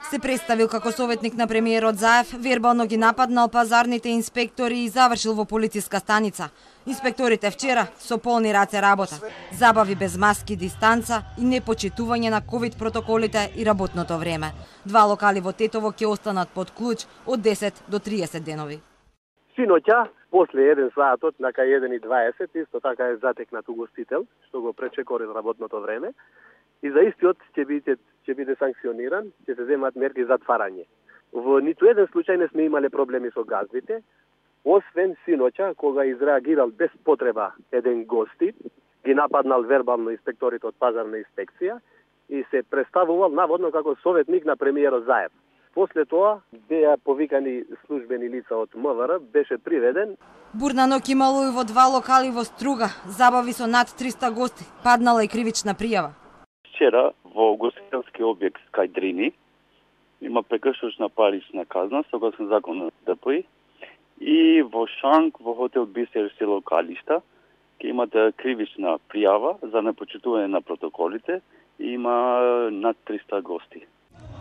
Се представил како советник на премиерот Заев, вербално ги нападнал пазарните инспектори и завршил во полициска станица. Инспекторите вчера со полни раце работа. Забави без маски, дистанца и непочитување на ковид протоколите и работното време. 2 локали во Тетово ќе останат под клуч од 10 до 30 денови. Синоќа, после 1 саатот, на кај 1:20, исто така е затекнат угостител, што го пречекори работното време. И за истиот ќе биде санкциониран, ќе се земат мерки за затварање. Во ниту еден случај не сме имале проблеми со газдите, освен синоќа, кога изреагирал без потреба еден гости, ги нападнал вербално инспекторите од пазарна инспекција и се представувал наводно како советник на премиерот Заев. После тоа беа повикани службени лица од МВР, беше приведен. Бурна ноќ имало и во 2 локали во Струга, забави со над 300 гости, паднала и кривична пријава. Вчера во ugostителски објект кај Дрини има прекршочна парична казна согласно законот ДПИ и во Шанк во хотел Бисер село Калишта ќе имате кривична пријава за непочитување на протоколите и има над 300 гости.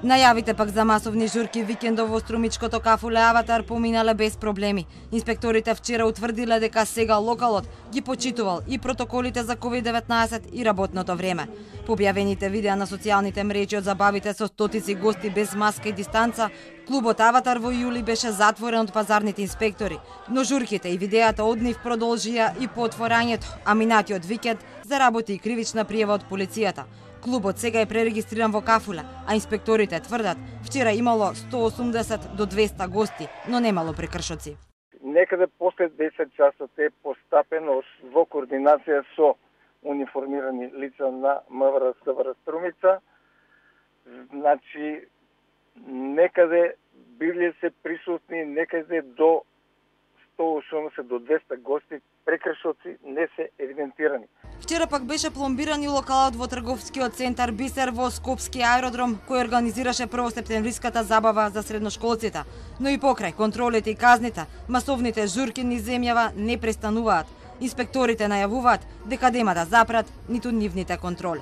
Најавите пак за масовни журки викендов во струмичкото кафуле Аватар поминале без проблеми. Инспекторите вчера утврдиле дека сега локалот ги почитувал и протоколите за COVID-19 и работното време. По објавените видеа на социјалните мрежи од забавите со стотици гости без маска и дистанца, клубот Аватар во јули беше затворен од пазарните инспектори, но журките и видеата од нив продолжија и по отворањето, а минатиот викенд заработи и кривична пријава од полицијата. Клубот сега е пререгистриран во Кафула, а инспекторите тврдат вчера имало 180 до 200 гости, но немало прекршоци. Некаде после 10 часот е постапено во координација со униформирани лица на МВР СВР Струмица. Значи, некаде биле се присутни некаде до 180 до 200 гости, прекршоци не се евидентирани. Вчера пак беше пломбиран и локалот во трговскиот центар Бисер во Скопски аеродром, кој организираше првосептемвриската забава за средношколците. Но и покрај контролите и казните, масовните журки низ земјава не престануваат. Инспекторите најавуваат дека нема да запрат ниту нивните контроли.